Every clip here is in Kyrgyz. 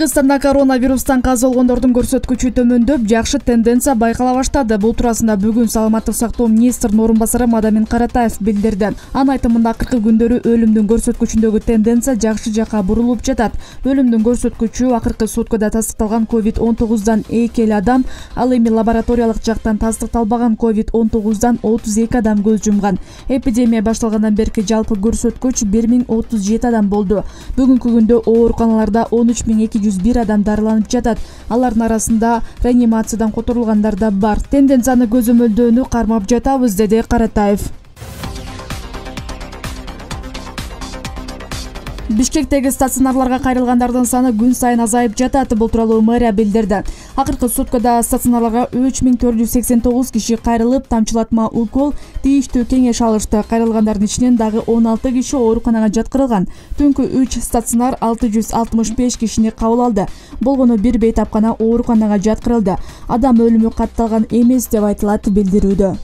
Кыргызстанда коронавирустан каза болгондордун көрсөткүчү төмөндөп, жакшы тенденция байкала баштады. Бул туурасында бүгүн Саламаттык сактоо министринин орун басары Мадамин Каратаев билдирди. Анын айтымында акыркы күндөрү өлүмдүн көрсөткүчүндөгү тенденция жакшы жакка бурулуп жатат. Өлүмдүн көрсөткүчү акыркы суткада тастыкталган COVID-19дан 2 адам, ал эми лабораториялык жактан тастыкталбаган COVID-19дан 32 адам көз жумган. Эпидемия башталгандан берки жалпы көрсөткүч 1037 адам болду. Бүгүнкү күндө ооруканаларда 13201 адам дарыланып жатат. Алардын арасында реанимациядан которулгандар да бар. Тенденцияны көзөмөлдөөнү кармап жатабыз, деди Каратаев. Бишкектеги стационарларга кайрылгандардын саны күн сайын азайып жатат. Бул тууралуу мэрия билдирди. Акыркы суткада стационарларга 3489 киши кайрылып, тамчылатма укол, тийиштүү кеңеш алышты. Кайрылгандардын ичинен дагы 16 киши ооруканага жаткырылган. Түнкү 3 стационар 665 кишини кабыл алды. Болгону бир бейтапкана ооруканага жаткырылды. Адам өлүмү катталган эмес деп айтылат билдирүүдө.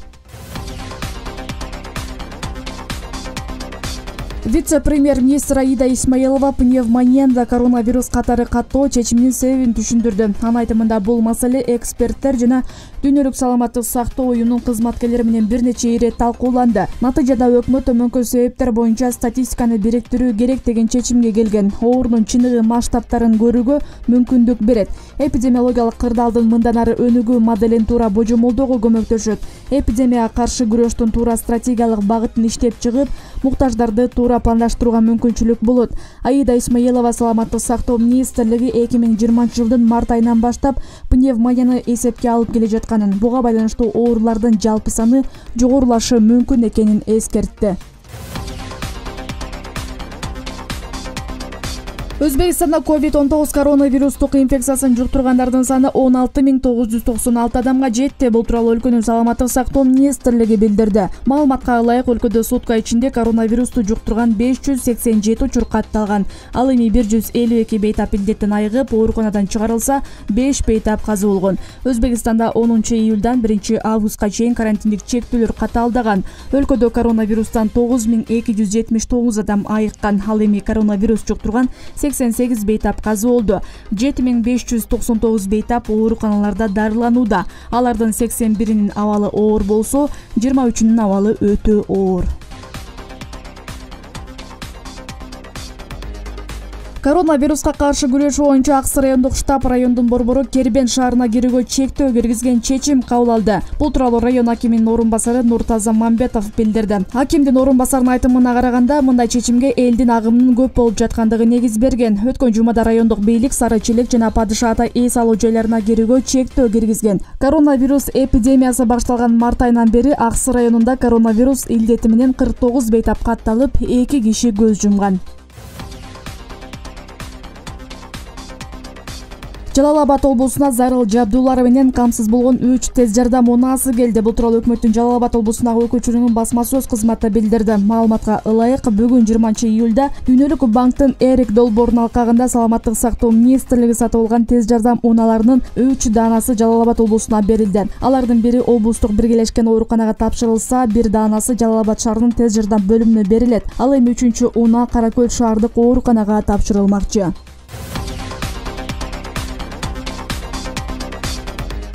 Вице-премьер-министр Аида Исмаилова пневмонияда коронавирус катары каттоо чечиминин себебин түшүндүрдү. Анын айтымында бул маселе эксперттер жана Дүйнөлүк саламаттык сактоо уюмунун кызматкерлери менен бир нече ирет талкууланды. Натыйжада өкмөт төмөнкү себептер боюнча статистиканы бириктирүү керек деген чечимге келген. Оорунун чыныгы масштабтарын көрүүгө мүмкүндүк берет. Эпидемиологиялык кырдаалдын мындан ары өнүгүү моделин туура божомолдоого көмөктөшөт. Эпидемияга каршы күрөштүн туура стратегиялык багытын иштеп чыгып, муктаждарды туура пландаштырууга мүмкүнчүлүк болот. Аида Исмаилова саламаттык сактоо министрлиги 2020-жылдын март айынан баштап пневмонияны эсепке алып келе жатканын, буга байланыштуу оорулардын жалпы саны жогорулашы мүмкүн экенин эскертти. Өзбекстанда COVID-19 коронавирустук инфекциясын жуктургандардын саны 16996 адамга жетти. Бул тууралуу өлкөнүн саламаттык сактоо министрлиги билдирди. Маалыматка ылайык өлкөдө сутка ичинде коронавирусту жуктурган 587 учур катталган. Ал эми 152 бейтап илдеттен айыгып, ооруканадан чыгарылса, 5 бейтап каза болгон. Өзбекстанда 10-июлдан 1-августка чейин карантиндик чектөөлөр катаалдаган. Өлкөдө коронавирустан 9279 адам айыккан. Ал эми коронавирус жуктурган 88 бейтап каза болду. 7599 бейтап ооруканаларда дарыланууда. Алардын 81-инин абалы оор болсо, 23-үнүн абалы өтө оор. Коронавируска каршы күрөшүү боюнча Аксы райондук штаб райондун борбору Кербен шаарына кирүүгө чектөө киргизген чечим кабыл алды. Бул тууралуу район акиминин орун басары Нуртаза Мамбетов билдирди. Акимдин орун басарынын айтымына караганда, мындай чечимге элдин агымынын көп болуп жаткандыгы негиз берген. Өткөн жумада райондук бийлик Сары Челек жана Падыша Ата эс алуу жайларына кирүүгө чектөө киргизген. Коронавирус эпидемиясы башталган март айынан бери Аксы районунда коронавирус илдети менен 49 бейтап катталып, 2 киши көз жумган. Жалал Абад облусуна зарыл жабдуулары менен камсыз болгон 3 тез жардам унаасы келди. Бул тууралуу өкмөттүн Жалал Абад облусундагы өкүлчүлүгүнүн басма сөз кызматы билдирди. Маалыматка ылайык, бүгүн 20-июлда Дүйнөлүк банктын Эрик долбоорунун алкагында саламаттык сактоо министрлиги сатып алган тез жардам унааларынын 3 даанасы Жалал Абад облусуна берилди. Алардын бири облустук биргелешкен ооруканага тапшырылса, бир даанасы Жалал Абад шаарынын тез жардам бөлүмүнө берилет. Ал эми 3-чү унаа Кара Көл шаардык ооруканага тапшырылмакчы.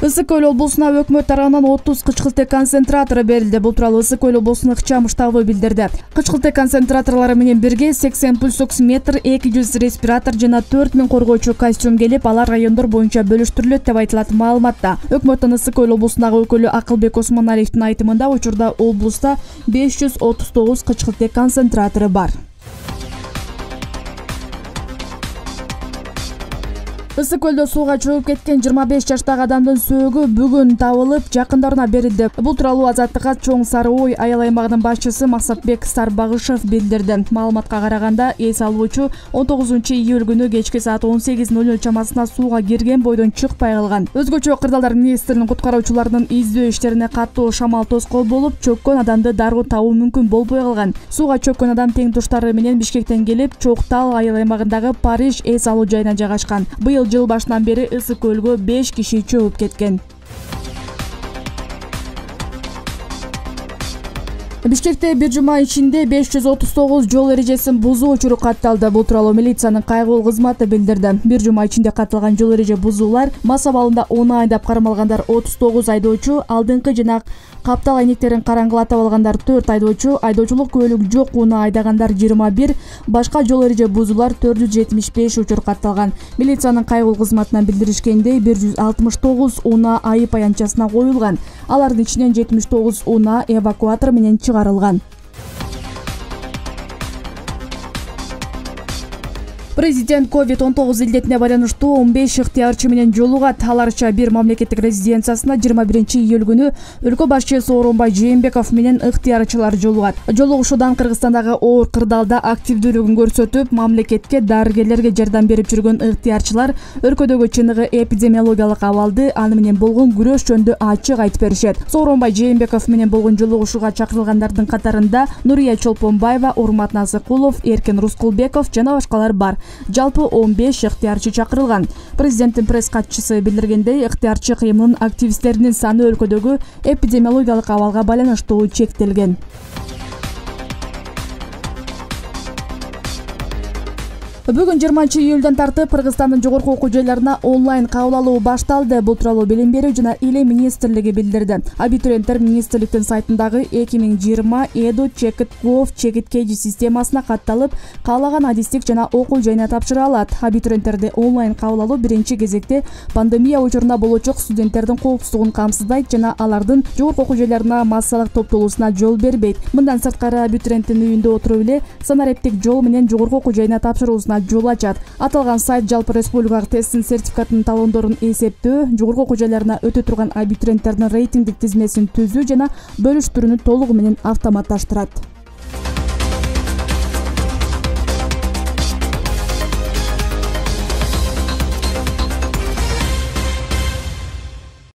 Ысык Көл облусуна өкмөт тарабынан 30 кычкылтек концентратору берилди. Бул тууралуу Ысык Көл облусунун ыкчам штабы билдирди. Кычкылтек концентраторлору менен бирге 80 пульсоксиметр, 200 респиратор жана 4000 коргоочу костюм келип, алар райондор боюнча бөлүштүрүлөт деп айтылат маалыматта. Өкмөттүн Ысык Көл облусундагы өкүлү Акылбек Осмоналиевдин айтымында, учурда облуста 539 кычкылтек концентратору бар. Ысык Көлдө сууга чөгүп кеткен 25 жаштагы адамдын сөөгү бүгүн табылып, жакындарына берилди. Бул тууралуу Азаттыкка Чоң Сары Ой айыл аймагынын башчысы Максатбек Сарбагышев билдирди. Маалыматка караганда, эс алуучу 19-июль күнү кечки саат 18:00 чамасында сууга кирген бойдон чыкпай калган. Өзгөчө кырдаалдар министринин куткаруучуларынын издөө иштерине каттуу шамал тоскоол болуп, чөккөн адамды дароо табуу мүмкүн болбой калган. Сууга чөккөн адам тең туштары менен Бишкектен келип, Чоктал айыл аймагындагы Париж эс алуу жайына жайгашкан. Жыл башынан бери Ысык Көлгө 5 киши чөгүп кеткен. Бишкекте бир жума ичинде 539 жол эрежесин бузуу учуру катталды. Бул тууралуу милициянын кайгылуу кызматы билдирди. Бир жума ичинде катталган жол эреже бузуулар мас абалында 10 айдап кармалгандар 39 айдоочу, алдыңкы жана каптал айнектерин караңгылатып алгандар 4 айдоочу, айдоочулук күбөлүк жок унаа айдагандар 21, башка жол эреже бузуулар 475 учур катталган. Милициянын кайгылуу кызматынан билдиришкендей 169 унаа айып аянтчасына коюлган. Алардын ичинен 79 унаа эвакуатор менен чыгарылган. Президент COVID-19 илдетине байланыштуу 15 ыктыярчы менен жолугат. Аларча бир мамлекеттик резиденциясына 21-июль күнү өлкө башчысы Сооронбай Жээнбеков менен ыктыярчылар жолугат. Жолугушуудан Кыргызстандагы оор кырдаалда активдүүлүгүн көрсөтүп, мамлекетке, дарыгерлерге жардам берип жүргөн ыктыярчылар өлкөдөгү чыныгы эпидемиологиялык абалды, аны менен болгон күрөш жөнүндө ачык айтып беришет. Сооронбай Жээнбеков менен болгон жолугушууга чакырылгандардын катарында Нурия Чолпонбаева, Урмат Насыкулов, Эркин Рускулбеков жана башкалар бар. Жалпы 15 ыктыярчы чакырылган. Президенттин пресс катчысы билдиргендей, ыктыярчы кыймынын активисттеринин саны өлкөдөгү эпидемиологиялык абалга байланыштуу чектелген. Бүгүн 20-июлдан тартып Кыргызстандын жогорку окуу жайларына онлайн кабыл алуу башталды. Бул тууралуу билим берүү жана илим министрлиги билдирди. Абитуриенттер министрликтин сайтындагы 2020 Edu Checkt Gov чекит KG системасына катталып, каалаган адистик жана окуу жайына тапшыра алат. Абитуриенттерди онлайн кабыл алуу биринчи кезекте пандемия учурунда болочок студенттердин коопсуздугун камсыздайт жана алардын жогорку окуу жайларына массалык топтолуусуна жол бербейт. Мындан сырткары абитуриенттин үйүндө отуруп эле санариптик жол менен жогорку окуу жайына тапшыруусуна жол ачат. Аталган сайт жалпы республикалык тесттин сертификатынын талондорун эсептөө, жогорку окуу жайларына өтө турган абитуриенттердин рейтингдик тизмесин түзүү жана бөлүштүрүүнү толугу менен автоматташтырат.